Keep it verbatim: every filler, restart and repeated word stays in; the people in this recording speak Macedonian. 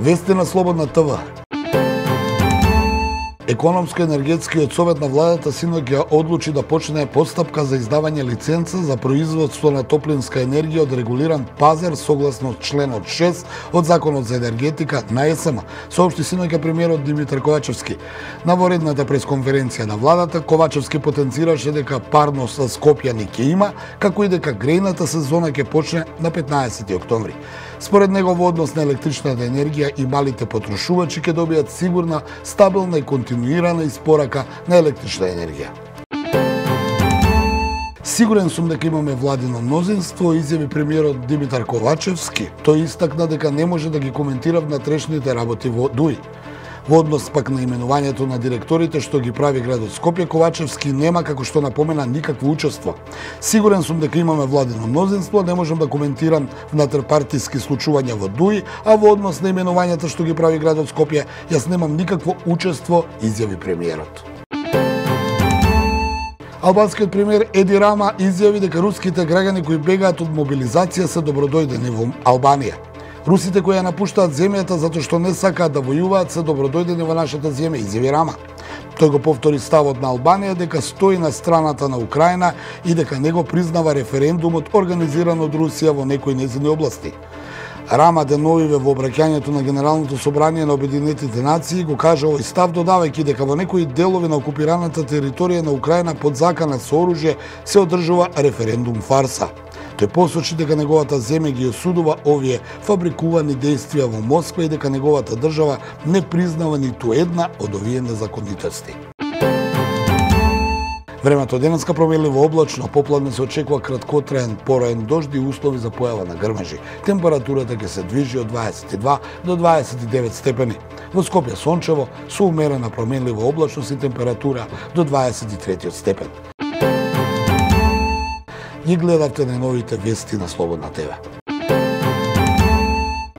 Вести на Слободна ТВ. Економско-енергетскиот совет на владата синоќ ја одлучи да почне постапка за издавање лиценца за производство на топлинска енергија од регулиран пазар согласно членот шест од Законот за енергетика на Е С М, соопшти синоќа премиерот Димитар Ковачевски. На воредната пресконференција на владата, Ковачевски потенцираше дека парно со Скопје ни ќе има, како и дека грејната сезона ќе почне на петнаесети октомври. Според него во однос на електричната енергија и малите потрошувачи ќе добијат сигурна, стабилна и континуирана испорака на електрична енергија. Сигурен сум дека имаме владино мнозинство, изјави премиерот Димитар Ковачевски. Тој истакна дека не може да ги коментира внатрешните работи во ДУИ. Во однос пак на именувањето на директорите што ги прави градот Скопје, Ковачевски нема, како што напомена, никакво учество. Сигурен сум дека имаме владино мнозинство, не можам да коментирам внатрпартиски случувања во ДУИ, а во однос на именувањата што ги прави градот Скопје, јас немам никакво учество, изјави премиерот. Албанскиот премиер Еди Рама изјави дека руските граѓани кои бегаат од мобилизација се добродојдени во Албанија. Русите кои ја напуштаат земјата затоа што не сакаат да војуваат се добродојдени во нашата земја, изјави Рама. Тој го повтори ставот на Албанија дека стои на страната на Украина и дека не го признава референдумот организиран од Русија во некои нејзини области. Рама деновиве во обраќањето на Генералното собрание на Обединетите нации го кажа овој став, додавајќи дека во некои делови на окупираната територија на Украина под закана со оружје се одржува референдум фарса. Тој посочи дека неговата земја ги осудува овие фабрикувани дејствија во Москва и дека неговата држава не признава ниту една од овие незаконитости. Времето денеска променливо облачно, попладне се очекува краткотраен пораен дожд и услови за појава на грмежи. Температурата ќе се движи од дваесет и два до дваесет и девет степени. Во Скопје сончево со умерена променлива облачност и температура до дваесет и трети степен. Ги гледавте најновите вести на Слободна ТВ.